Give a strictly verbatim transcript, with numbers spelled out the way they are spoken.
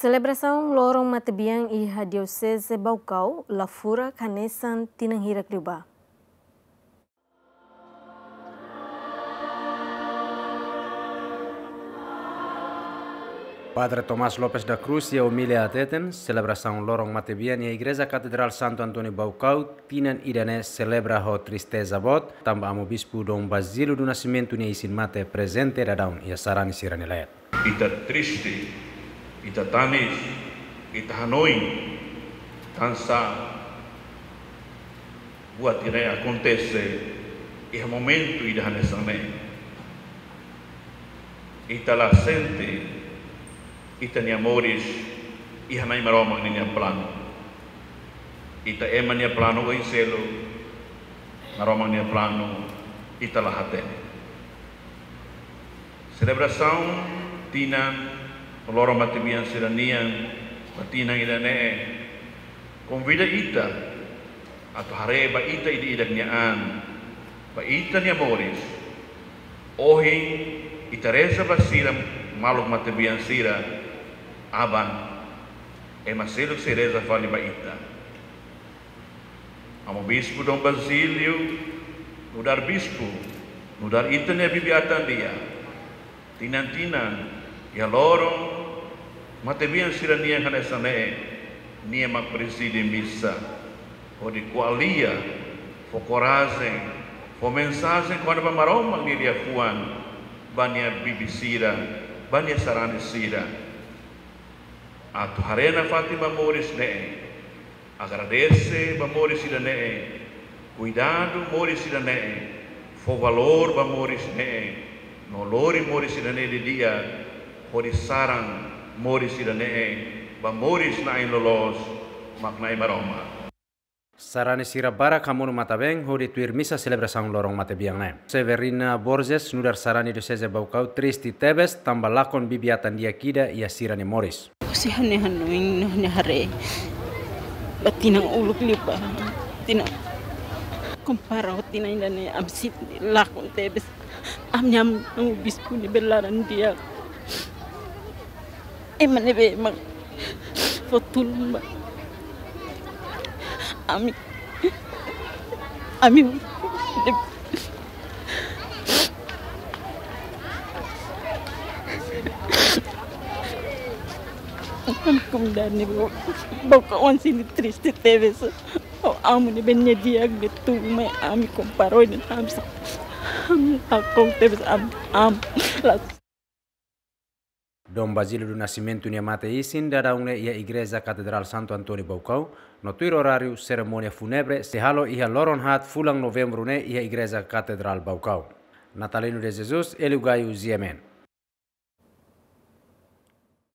Selebrasaun loron matebian iha Dioseze Baucau la furak hanesan tinan hirak liubá. Padre Tomás Lopes da Cruz iha omilia hateten, selebrasaun loron matebian iha Igreja Katedrál Santo António Baucau tinan ida-ne'e selebra ho tristeza boot, tanba Amu Bispu Dom Basílio do Nascimento nia isin-mate prezente daudaun iha sarani sira-nia leet. Ita triste, ita tanis, ita hanoin, tansá buat ida-ne'e akontese iha momentu ida hanesan ne'e. Ita la sente ita-nia moris iha Na'i Maromak ninia planu. Ita ema nia planu oin seluk, Maromak nia planu ita la hatene. Selebrasaun tinan loron matebian sira-nian ba tinan ida-ne'e konvida ita atu haree ba ita ida-idak nia an, ba ita-nia moris. Ohin ita reza ba sira, maluk matebian sira, aban ema seluk sei reza fali ba ita. Amu Bispu Dom Basílio, nu'udar bispu, nu'udar ita-nia bibi-atan di'ak, tinan-tinan iha loron matebian sira-nian hanesan ne'e, nia mak prezide misa, hodi ko'alia, fó korajen, fó mensajen kona-ba Maromak nia liafuan ba nia bibi sira, ba nia sarani sira. Atu haree nafatin ba moris ne'e, agradese ba moris ida-ne'e, kuidadu moris ida-ne'e, fó valór ba moris ne'e, no lori moris ida-ne'e didi'ak, hodi saran moris ida-ne'e ba moris na'in loloos, mak Na'i Maromak. Sarani sira barak hamonu matan-been hodi tuir misa selebrasaun loron matebian ne'e. Severina Borges, nu'udar sarani Dioseze Baucau, triste tebes tanba lakon bibi-atan di'ak ida iha sira-nia moris. Husi ha'u-nia hanoin no ha'u-nia haree ba tinan uluk liubá, tinan kompara ho tinan ida-ne'e, ami sente lakon tebes. Ami-nia Amu Bispu ne'ebé laran di'ak, ema ne'ebé mak fó tulun ba ami. Ami, ami komunidade ne'e Baucau, Baucau sente triste tebes ho Amu ne'ebé nia di'ak ne'e tulun mai ami, kompara ho ne'e, ami sa, ami lakon tebes, ami, ami la. Dom Basílio do Nascimento nia mate-isin daudaun ne'e iha Igreja Katedrál Santo António Baucau, no tuir oráriu serimónia fúnebre sei halo iha loron haat fulan Novembru ne'e iha Igreja Katedrál Baucau. Natalino de Jesus, Hélio Gaio, G M N.